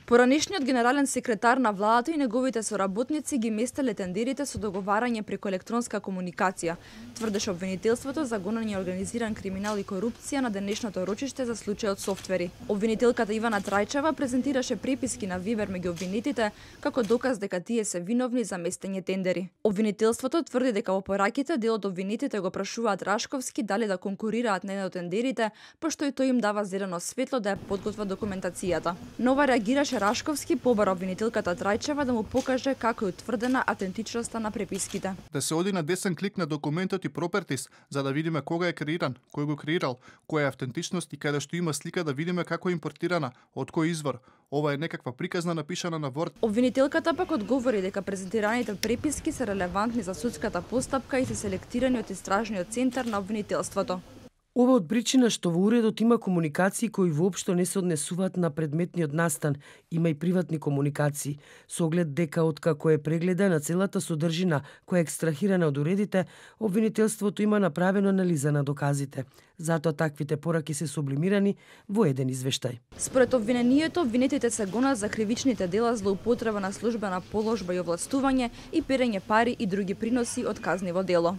Поранешниот генерален секретар на владата и неговите соработници ги местеле тендерите со договарање преку електронска комуникација, тврдеше обвинителството за гонење организиран криминал и корупција на денешното рочиште за случајот Софтвери. Обвинителката Ивана Трајчева презентираше преписки на Вибер меѓу обвинетите како доказ дека тие се виновни за местење тендери. Обвинителството тврди дека во пораките дел од обвинетите го прашуваат Рашковски дали да конкурираат на еден од тендерите, пошто и тој им дава зелено светло да ја подготват документацијата. Нова реагираше Рашковски побара обвинителката Трајчева да му покаже како е утврдена автентичноста на преписките. Да се оди на десен клик на документот и пропертис, за да видиме кога е креиран, кој го креирал, која е автентичност и каде што има слика да видиме како е импортирана, од кој извор. Ова е некаква приказна напишана на Word. Обвинителката пак одговори дека презентираните преписки се релевантни за судската постапка и се селектирани од истражниот центар на обвинителството. Ова од причина што во уредот има комуникации кои воопшто не се однесуваат на предметниот настан, има и приватни комуникации, со оглед дека откако е прегледана целата содржина која е екстрахирана од уредите, обвинителството има направено анализа на доказите. Затоа таквите пораки се сублимирани во еден извештај. Според обвинението, обвинетите се гонат за кривичните дела злоупотреба на службена положба и овластување и перење пари и други приноси од казниво дело.